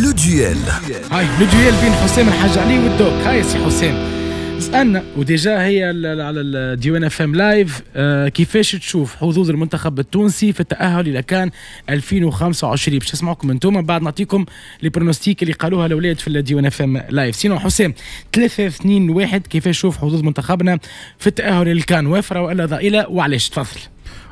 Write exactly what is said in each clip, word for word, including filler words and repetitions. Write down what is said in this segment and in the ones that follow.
le duel. هاي le duel بين حسام الحاج علي والدوك. هاي سي حسام، سالنا و déjà هي على الديوان اف ام live، آه كيفاش تشوف حظوظ المنتخب التونسي في التاهل الى كان ألفين وخمسة وعشرين؟ باش نسمعكم انتم، بعد نعطيكم les pronostics اللي قالوها الاولاد في الديوان اف ام live. sinon حسام، ثلاثة اثنين واحد، كيفاش تشوف حظوظ منتخبنا في التاهل للكان، وافرة والا ضئيله؟ وعلاش؟ تفضل.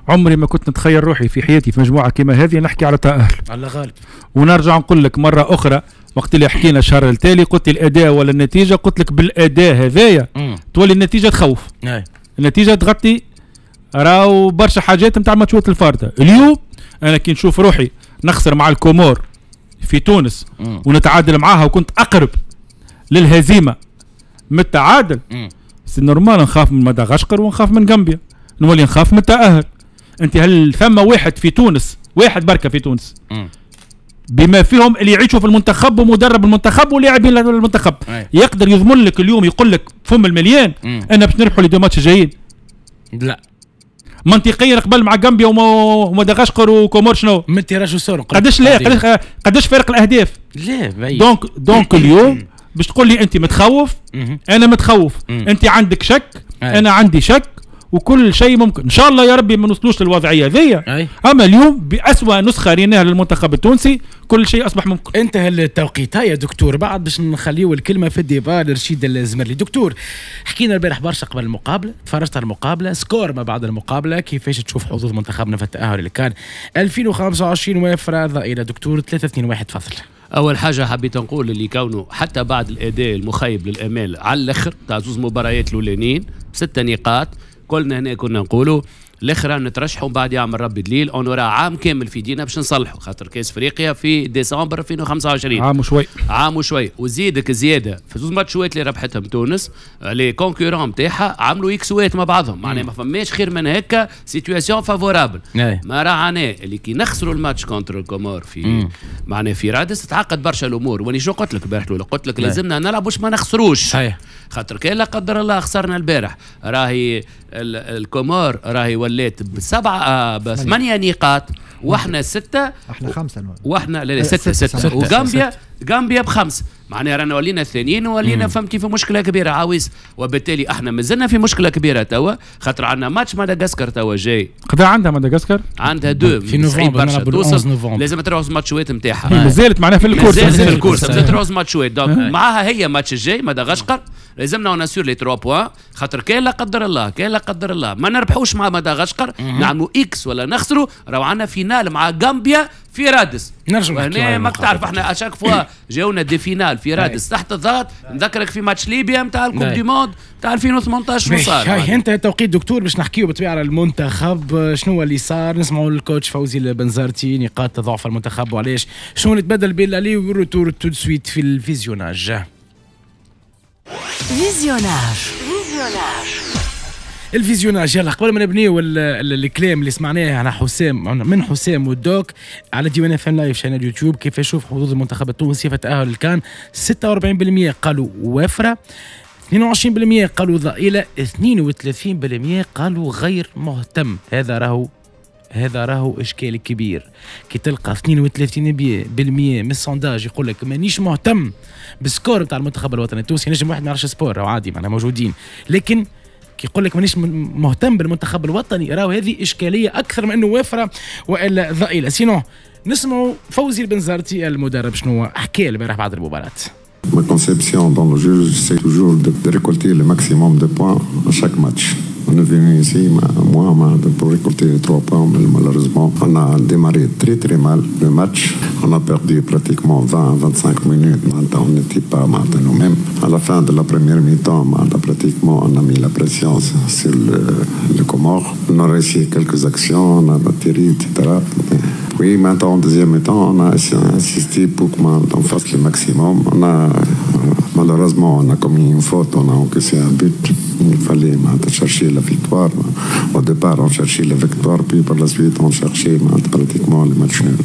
عمري ما كنت نتخيل روحي في حياتي في مجموعة كما هذه نحكي على تاهل. الله غالب. ونرجع نقول لك مرة اخرى، وقت اللي حكينا الشهر التالي قلت لي الاداء ولا النتيجه؟ قلت لك بالاداء هذايا تولي النتيجة تخوف. أي. النتيجة تغطي راهو برشا حاجات نتاع الماتشات الفارطه. اليوم انا كي نشوف روحي نخسر مع الكومور في تونس مم. ونتعادل معاها، وكنت اقرب للهزيمه من التعادل، c'est normal نخاف من مدغشقر ونخاف من غامبيا، نولي نخاف من التاهل. انت هل ثم واحد في تونس، واحد بركة في تونس، مم. بما فيهم اللي يعيشوا في المنتخب ومدرب المنتخب ولاعبين المنتخب، أي. يقدر يضمن لك اليوم، يقول لك فم المليان مم. انا باش نربحوا les deux matchs الجايين؟ لا. منطقيا قبل مع غامبيا وما- ومدغشقر وكومور شنو؟ من tirage au sort. قداش، لا، قداش قداش فرق الاهداف؟ لا، بعيد. donc donc اليوم باش تقول لي انت متخوف، مهم. انا متخوف. مم. انت عندك شك، أي. انا عندي شك، وكل شيء ممكن. ان شاء الله يا ربي ما نوصلوش للوضعيه ذي. أي. اما اليوم بأسوأ نسخه ريناها للمنتخب التونسي كل شيء اصبح ممكن. انتهى التوقيت. هيا دكتور، بعد باش نخليو الكلمة في ال débat لرشيد الزمرلي. دكتور، حكينا البارح برشا قبل المقابله، تفرجت على المقابله، score ما بعد المقابله، كيفاش تشوف حظوظ منتخبنا في التاهل اللي كان ألفين وخمسة وعشرين، وافره، ضئيله؟ دكتور، ثلاثة اثنين واحد، تفضل. اول حاجة حبيت نقول اللي كونه حتى بعد الاداء المخيب للامال على الاخر تاع زوز مباريات الاولانيين، ستة نقاط، كلنا هنا كنا نقولوا الاخر نترشحوا بعد يعمل ربي دليل، on aura عام كامل في دينا باش نصلحوا، خاطر كاس افريقيا في ديسمبر ألفين وخمسة وعشرين. عام وشوي. عام وشوي، وزيدك زيادة في زوز ماتشوات اللي ربحتهم تونس، les concurrents نتاعها عملوا اكسوات مع بعضهم، معناها ما فماش خير من هكا situation favorable. ما راعنا اللي كي نخسروا الماتش contre الكومور في معناها في رادس تعقد برشا الامور. واني شو قلت لك البارح؟ قلت لك لازمنا نلعب باش ما نخسروش. صحيح. خاطر كان لا قدر الله خسرنا البارح، راهي الكومور راهي ولات بسبعة آه، بثمانية نقاط واحنا ستة. احنا خمسة. واحنا لا لا، ستة ستة، وغامبيا غامبيا بخمس، معناها رانا ولينا الثانيين ولينا فهمتي في مشكلة كبيرة عاوز. وبالتالي احنا مازلنا في مشكلة كبيرة توا، خاطر عندنا ماتش مدغشقر توا جاي. قدا عندها مدغشقر؟ عندها deux. في نوفمبر. توصل لازم تروح ماتشوات نتاعها. مازالت معناها في ال course. مازالت في ال course، مازالت تروح ماتشوات، donc معاها هي ماتش الجاي مدغشقر لازمنا on assure les trois points، خاطر كان لا قدر الله كان لا قدر الله ما نربحوش مع مدغشقر، نعملوا X ولا نخسروا، راهو عندنا finale مع غامبيا في رادس. نرجع. هنا ماك تعرف احنا à chaque fois جاونا des finales في رادس تحت الضغط. نذكرك في ماتش ليبيا نتاع ال coupe du monde نتاع ألفين وثمنطاش شنو صار. هاي انت التوقيت دكتور باش نحكيو بالطبيعة على المنتخب، شنو اللي صار، نسمعوا ال coach فوزي البنزرتي، نقاط ضعف المنتخب وعلاش، شنو اللي تبدل بين l'aller وال retour، tout de suite في ال visionnage. visionnage visionnage. ال visionnage، يلا قبل ما نبنيو الكلام اللي سمعناه على حسام، من حسام والدوك على ديوان اف ام live chaîne يوتيوب، كيف يشوف حظوظ المنتخب التونسي في التاهل الكان؟ ستة وأربعين بالمية قالوا وافره، اثنين وعشرين بالمية قالوا ضئيله، اثنين وثلاثين بالمية قالوا غير مهتم. هذا راهو هذا راهو اشكال كبير كي تلقى اثنين وثلاثين بالمية من ال sondage يقول لك مانيش مهتم بال score نتاع المنتخب الوطني التونسي. نجم واحد ما يعرفش sport عادي، معناها موجودين، لكن كي يقول لك مانيش مهتم بالمنتخب الوطني راهو هذه اشكالية اكثر من انه وافرة والا ضئيله. sinon نسمعوا فوزي البنزرتي المدرب شنو حكى البارح بعد المباراه. Ma conception dans le jeu, c'est toujours de, de récolter le maximum de points à chaque match. On est venu ici, moi, pour récolter les trois points, mais malheureusement, on a démarré très très mal le match. On a perdu pratiquement vingt à vingt-cinq minutes. On n'était pas nous-mêmes. À la fin de la première mi-temps, pratiquement, on a mis la pression sur le, le Comore. On a réussi quelques actions, on a tiré, et cetera. Puis maintenant, en deuxième mi-temps, on a insisté pour qu'on fasse le maximum. On a, malheureusement, on a commis une faute, on a encaissé un but. Il fallait chercher la victoire. Au départ, on cherchait la victoire, puis par la suite, on cherchait pratiquement le match nul,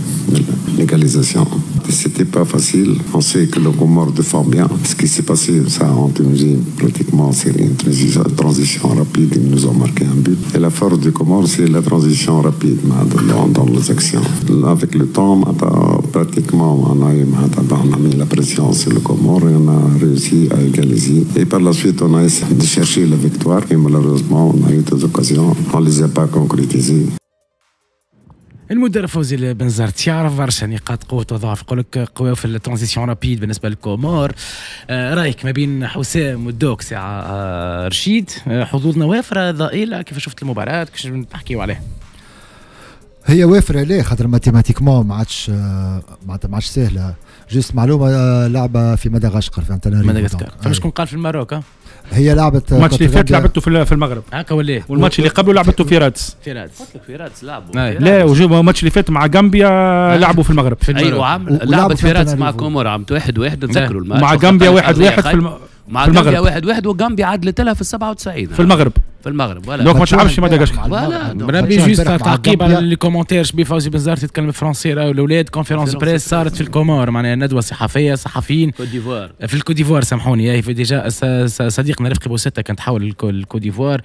l'égalisation. C'était pas facile. On sait que le Comore défend bien. Ce qui s'est passé ça en Tunisie, pratiquement c'est une transition rapide. Ils nous ont marqué un but. Et la force du Comore, c'est la transition rapide dans, dans les actions. Avec le temps, pratiquement on a, on a mis la pression sur le Comore et on a réussi à égaliser. Et par la suite, on a essayé de chercher la victoire et malheureusement, on a eu des occasions, on ne les a pas concrétisées. المدرب فوزي البنزرتي يعرف برشا نقاط قوة وضعف، يقول لك قوة في ال transition rapide بالنسبة للكومور. آه رايك ما بين حسام والدوك ساعة آه رشيد، آه حظوظنا وافرة ضئيلة، كيف شفت المباراة؟ كيفاش نحكيو عليها؟ هي وافرة ليه؟ خاطر mathématiquement ما عادش معناتها ما عادش سهلة. juste معلومة، لعبة في مدغشقر، في انتاناريفو. مدغشقر، فما شكون قال في الماروك؟ هي لعبت الماتش اللي فات لعبته في المغرب هكا ولا؟ والماتش اللي قبله لعبته في رادس. في رادس قلت لك في رادس لعبوا. لا، الماتش اللي فات مع غامبيا لعبوا في المغرب. في ايوه عم لعبت في رادس مع كومور عملت واحد واحد، نتذكروا الماتش. مع غامبيا واحد واحد في الم... مع غامبيا واحد واحد، وغامبيا عدلت لها في السبعة وتسعين في المغرب. في المغرب voilà. donc ما تلعبش في مدغشقر. voilà بربي juste تعقيب على les commentaires، شبي فوزي بنزرتي يتكلم français راهو الاولاد. conférence presse صارت في الكومور، معناها ندوه صحفية صحفيين كوت ديفوار، في الكوت ديفوار سامحوني. في déjà صديقنا رفقي بوسته كان تحول الكوت ديفوار،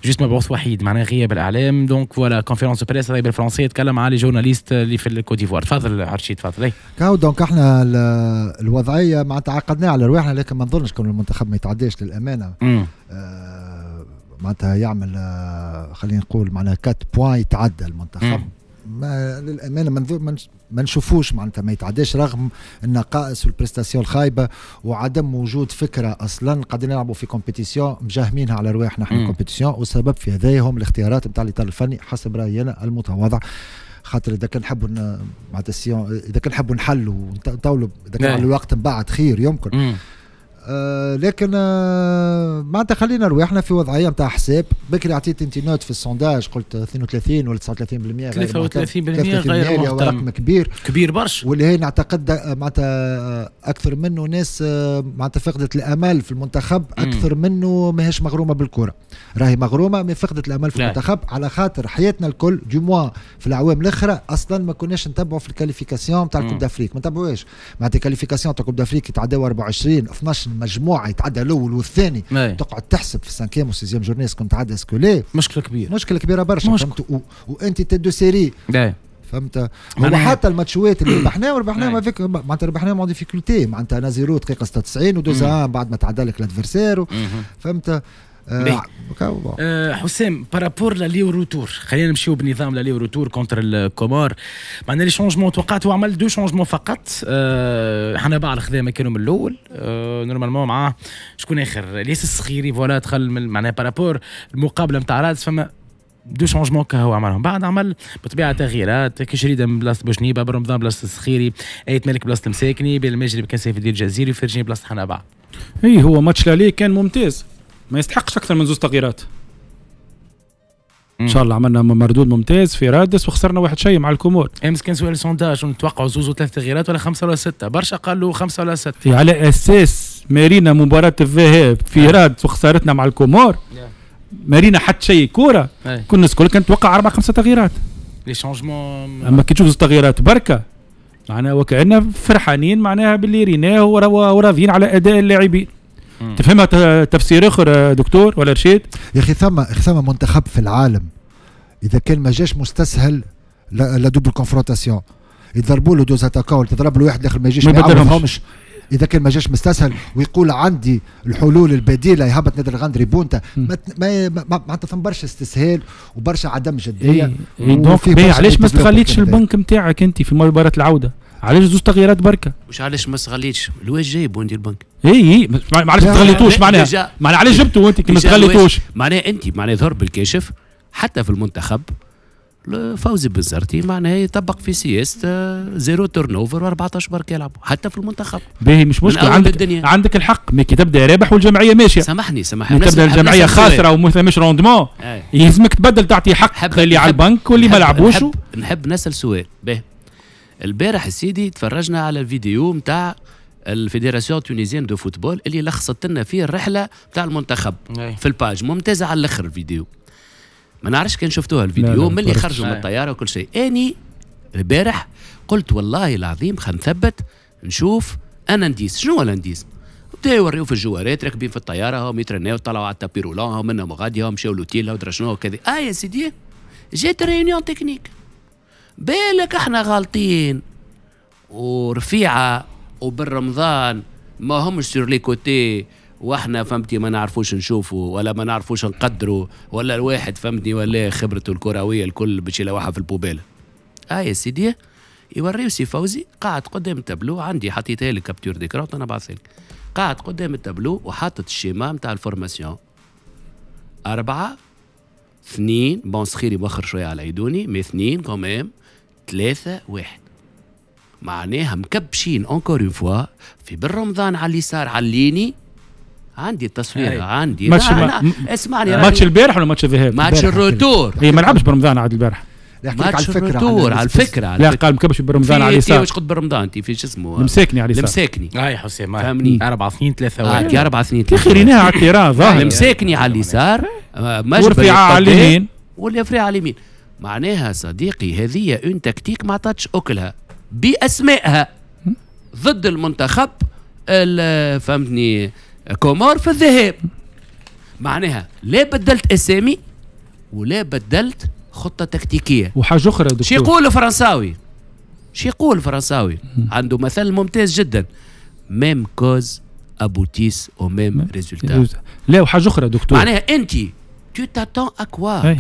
juste مبعوث وحيد معناها غياب الاعلام. donc voilà conférence presse راهي بالفرنسي، يتكلم على les journalistes اللي في الكوت ديفوار. تفضل عرشيد تفضل. كاو donc احنا الوضعية معناتها عقدناها على رواحنا، لكن ما نظنش كون المنتخب ما يتعداش للامانة. معناتها يعمل خلينا نقول معناها quatre points يتعدى المنتخب. ما للامانة ما ما نشوفوش معناتها ما يتعداش رغم النقائص وال prestation الخايبة وعدم وجود فكرة اصلا. قاعدين نلعبوا في compétition مجاهمينها على رواحنا احنا compétition، والسبب في هذا هم الاختيارات نتاع الاطار الفني حسب رايي انا المتواضع. خاطر اذا كان نحبوا معناتها اذا كان نحبوا نحلوا ونطولوا اذا كان على الوقت من بعد خير يمكن. مم. آه لكن آه معناتها خلينا رواحنا في وضعية نتاع حساب. بكري عطيت انت note في ال sondage، قلت اثنين وثلاثين ولا تسعة وثلاثين بالمية، ثلاثة وثلاثين بالمية غير مهتم، رقم كبير كبير برشا، واللي هي نعتقد معناتها اكثر منه ناس معناتها فقدت الامل في المنتخب اكثر منه ماهيش مغرومه بالكرة. راهي مغرومه mais فقدت الامل في المنتخب على خاطر حياتنا الكل du moins في الاعوام الاخرى اصلا ما كناش نتبعوا في ال qualification تاع ال Coupe d'Afrique، ما نتبعوهاش معناتها qualification تاع Coupe d'Afrique يتعداو أربعة وعشرين اثناش مجموعة، يتعدى الاول والثاني. مي. تقعد تحسب في ال cinquième وال sixième journée est-ce que تعدى est-ce que لا، مشكلة كبيرة، مشكلة كبيرة برشا. فهمت؟ و... وانت tête de série. فهمت؟ هو حتى الماتشوات اللي ربحناهم ربحناهم avec معناتها ربحناهم en difficulté، معناتها un zéro دقيقة ستة وتسعين و deux un بعد ما تعدى لك l'adversaire. فهمت؟ آه آه حسام par rapport l'aller retour، خلينا نمشيو بنظام l'aller retour contre الكومور. معناها les changements توقعت هو عمل deux changements فقط. آه حنبعل خذا مكانه من الاول آه normalement معاه شكون اخر؟ الياس الصغيري voilà دخل معناها par rapport المقابلة نتاع رادس فما deux changements كهو عملهم. بعد عمل بطبيعة تغييرات، كشريده من بلاصة بوشنيبه، برمضان بلاصة الصخيري، ايت مالك بلاصة المساكني، بالمجري بكان سيف الدين الجزيري، وفرجيني بلاصة حنبعل. اي هو match l'aller كان ممتاز، ما يستحقش اكثر من زوج تغييرات. ان شاء الله عملنا مردود ممتاز في رادس وخسرنا واحد شيء مع الكومور. امس كان سؤال sondage نتوقعوا زوز وثلاث تغييرات ولا خمسة ولا ستة، برشا قالوا خمسة ولا ستة. على اساس مارينا مباراة الذهاب في رادس وخسارتنا مع الكومور مارينا حتى شيء كورة، كنا الناس الكل كانت توقع اربع خمسة تغييرات. les changements اما كي تشوف زوج تغييرات بركة معناها وكأننا فرحانين معناها باللي ريناه وراضيين على اداء اللاعبين. تفهمها تفسير اخر دكتور ولا رشيد؟ يا اخي ثم ثم منتخب في العالم اذا كان ما جاش مستسهل la double confrontation، يضربوا له deux attaquants ولا تضرب له واحد الاخر ما يجيش ما يعرفهمش. اذا كان ما جاش مستسهل ويقول عندي الحلول البديلة يهبط نادر الغندري بونتا، ما ما معناتها ثم برشا استسهال وبرشا عدم جدية. إيه. donc علاش ما استغليتش البنك نتاعك انت في مباراة العودة؟ علاش زوج تغييرات بركة؟ مش علاش ما استغليتش؟ الواش جايب وانت البنك؟ اي اي علاش ما استغليتوش معناها؟ معناها علاش جبته وانت كي ما استغليتوش؟ معناها انت معناها ظهر بالكاشف حتى في المنتخب فوزي بنزرتي معناها يطبق في سياسة zéro turnover وأربعطاش برك يلعبوا حتى في المنتخب. باهي مش مشكل، عندك الدنيا. عندك الحق، mais كي تبدا رابح والجمعية ماشية. سامحني سامحني، تبدا الجمعية خاسرة وما ثماش rendement يلزمك تبدل، تعطي حق اللي على البنك واللي ما لعبوش. نحب, نحب نسال سؤال. باهي البارح سيدي تفرجنا على الفيديو نتاع ال Fédération tunisienne de football اللي لخصت لنا فيه الرحلة نتاع المنتخب في ال page، ممتازة على الاخر الفيديو. ما نعرفش كان شفتوها الفيديو من اللي خرجوا من الطيارة وكل شيء. اني البارح قلت والله العظيم خلينا نثبت نشوف un indice. شنو هو ال indice؟ بدا يوريو في الجوارات راكبين في الطياره، هم يترناو، طلعوا على ال tapis roulant، هم منهم غادي، هم مشاو l'hôtel ودرا شنو كذا. اه يا سيدي جات réunion technique، بالك احنا غالطين ورفيعه وبالرمضان ما همش sur les côtés، واحنا فهمتي ما نعرفوش نشوفوا ولا ما نعرفوش نقدروا، ولا الواحد فهمتني ولا خبرته الكروية الكل باش يلوحها في ال poubelle. اه يا سيدي يوريو سي فوزي قاعد قدام التابلو، عندي حطيتها لك capture d'écran انا بعثها لك، قاعد قدام التابلو وحاطط ال schéma نتاع ال formation أربعة اثنين، bon صخيري مؤخر شوية على عيدوني mais اثنين quand même، ثلاثة واحد، معناها مكبشين encore une fois في بالرمضان على اليسار على ال ligne. عندي التصوير عندي ماتش ما اسمعني، ماتش البارح ولا ماتش الذهاب؟ ماتش ال retour. هي ما لعبش برمضان عاد البارح. ماتش ال retour على الفكره. لا قال مكبش برمضان على اليسار. واش قلت برمضان انت في شو اسمه؟ المساكني على اليسار. المساكني اي حسام فهمني أربعة اثنين ثلاثة واحد. أربعة اثنين ثلاثة واحد. ريناها على ال terrain ظاهر. المساكني على اليسار، ورفيعه على اليمين، والرفيعه على اليمين. معناها صديقي هذه une tactique ما عطاتش اكلها باسمائها ضد المنتخب فهمتني كومور في الذهاب. معناها لا بدلت اسامي ولا بدلت خطه تكتيكية. وحاجه اخرى دكتور، شي يقول الفرنساوي، شي يقول الفرنساوي عنده مثل ممتاز جدا، mêmes causes aboutissent au même résultat. لا وحاجه اخرى دكتور، معناها انت tu t'attends à quoi؟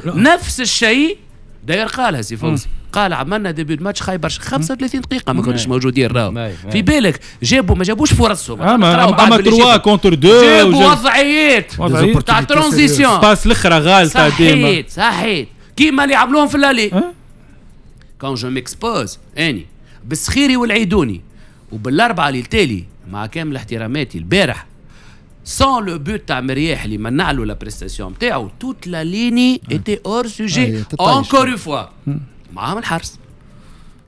نفس الشيء داير قالها سي فوزي، قال عملنا début match خايب برشا، خمسة وثلاثين دقيقة ما كناش موجودين راهو. في بالك جابوا ما جابوش فرصهم، اما اما ثلاثة contre اثنين جابوا وضعيات تاع transition، passe الاخرى غالطة ديما. صحيت صحيت كيما اللي عملوهم في l'aller. quand je m'expose اني بالسخيري والعيدوني وبالاربعة اللي التالي مع كامل احتراماتي البارح sans le but تاع مرياح اللي منع له la prestation نتاعو، toute la ligne était hors sujet encore une fois معاهم الحارس،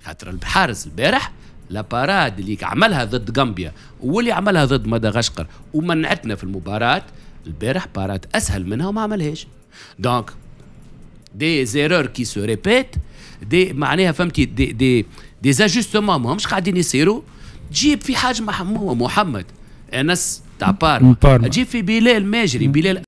خاطر الحارس البارح la parade اللي عملها ضد غامبيا واللي عملها ضد مدغشقر ومنعتنا في المباراة، البارح parade اسهل منها وما عملهاش. donc des erreurs qui se répètent، des معناها فهمتي des des des ajustements ماهمش قاعدين يصيروا. تجيب في حاجة محمد انس تاع بارما، تجيب في بلال ماجري، بلال